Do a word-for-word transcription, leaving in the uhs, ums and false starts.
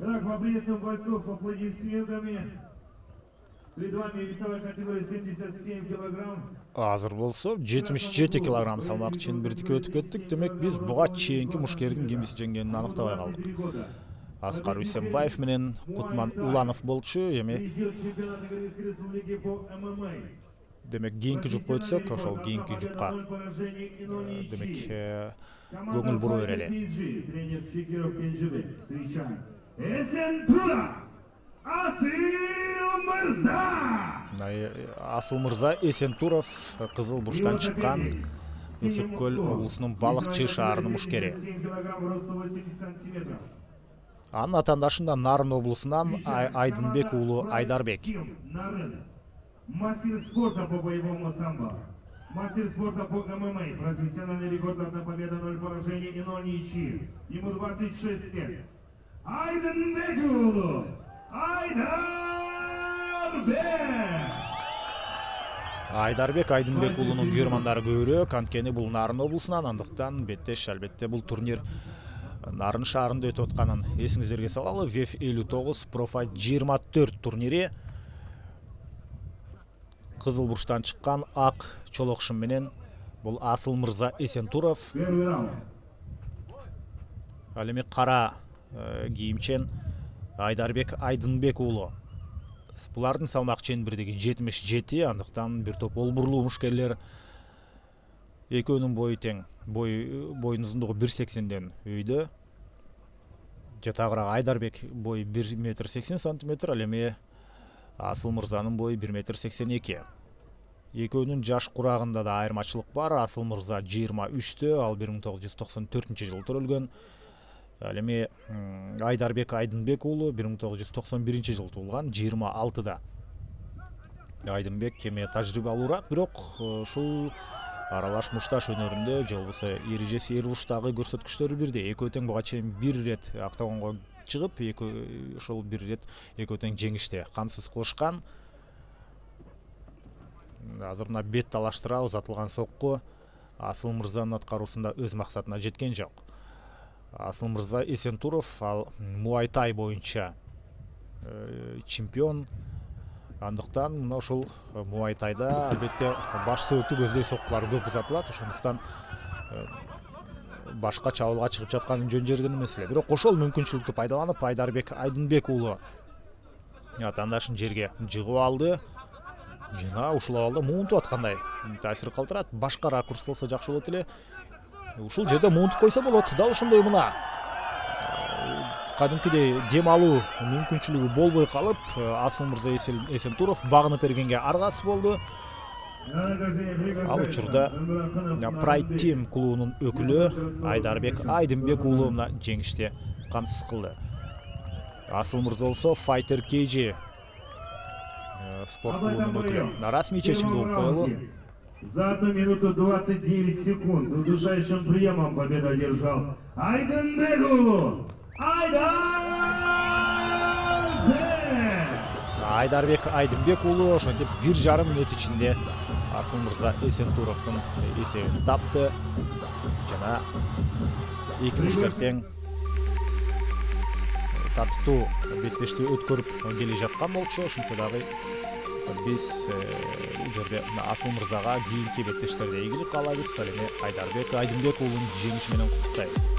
Итак, поприветствуем бойцов аплодисментами. Перед вами весовая категория семьдесят семь килограмм. Азыр болсо жетимиш жети килограмм салмак чембирдикке өтүп кеттик. Демек биз буга чейинки мушкердин кимиси жеңгенин аныктабай калдык. Аскар Үсенбаев менен Кутман Уланов болчу. Эми демек кийинки жупка өтсөк, ошол кийинки жупка демек көңүл бура берели. Тренер Чекиров Кенжебек. Встречаем. Эсентуров Асыл Мырза. Асыл Мырза Эсентуров Кызыл Бурчтан чыккан Ысык көл облусунун Балыкчы шаарынын мушкери. Анын атаандашында Нарын облусунан Айдынбек уулу Айдарбек. Мастер спорта по боевому самбо. Мастер спорта по ММА. Профессиональный рекорд: одна победа, ноль поражений и ноль ничьих. Ему двадцать шесть лет. Айдынбек уулу Айдарбек. Айдарбек Айдынбек уулунун күйөрмандары көбүрөөк, анткени бул Нарын облусунан, андыктан беттеш. Албетте бул турнир Нарын шаарында өтүп атканын эсиңиздерге салалы. вэ эф элүү тогуз Профайт жыйырма төрт турнири Кызыл Бурчтан чыккан ак чолокшум менен бул Асыл Мырза Эсентуров. Ал эми кара кийимчен Айдарбек Айдынбек уулу. Булардын салмак чембирдиги жетимиш жети, андыктан бир топ олбурлуу мушкерлер. Экөөнүн бою тең. Бой боюнун узундугу бир сексенден өйдө. Жатагыраак Айдарбек бою бир метр сексен сантиметр, ал эми Асыл Мырзанын бою бир метр сексен эки. Экөөнүн жаш курагында да айырмачылык бар. Асыл Мырза жыйырма үчтө, ал бир миң тогуз жүз токсон төртүнчү жылы төрөлгөн. Ал эми Айдарбек Айдынбек уулу бир миң тогуз жүз токсон биринчи жылы туулган, жыйырма алтыда. Айдынбек кеме тажрыйбалуураак, бирок ушул аралаш мушташ өнөрүндө же болбосо эрежеси эр уруштагы көрсөткүчтөрү бирдей. Экөө тең буга чейин бир ирет октагонго чыгып, экөө ошол бир ирет экөө тең жеңиште камсыз кылышкан. Азыр мына бет талаштыра узатылган сокку Асыл Мырзанын аткаруусунда өз максатына жеткен жок. Асыл Мырза Эсентуров ал муайтай боюнча чемпион. Андыктан мына ушул муайтайда албетте баш сөөктү көздөй соккулар көп узатылат. Ошондуктан башка чабуулга чыгып жаткан жөн жерден эмес эле. Бирок ошол мүмкүнчүлүктү пайдаланып Айдарбек Айдынбек уулу атаандашын жерге жыгып алды. Жана ушул абалда муунтуп аткандай таасир калтырат. Башка ракурс болсо жакшы болот эле. Ушул жерде муунтуп койсо болот. Дал ошондой мына кадимкидей дем алуу мүмкүнчүлүгү болбой калып, Асыл Мырза Эсентуров багынып бергенге аргасыз болду. Ал учурда Pride Team клубунун өкүлү Айдарбек Айдынбек уулу мына жеңиште камсыз кылды. Асыл Мырза болсо Fighter кей джи спорт клубунун өкүлү. Расмий чечимди болуп коелу. За одну минуту двадцать девять секунд удушающим приемом победу одержал Айдынбек уулу Айдарбек. Айдарбек Айдынбек уулу ошентип бир жарым мүнөт ичинде Асыл Мырза Эсентуровдун эсебин тапты. Жана эки мушкер тең татыктуу беттештүү өткөрүп келе жаткан болчу. Ошентсе дагы биз бул жерде Асыл Мырзага кийинки беттештерде ийгилик каалайбыз. Ал эми Айдарбек Айдынбек уулунун жеңиши менен куттуктайбыз.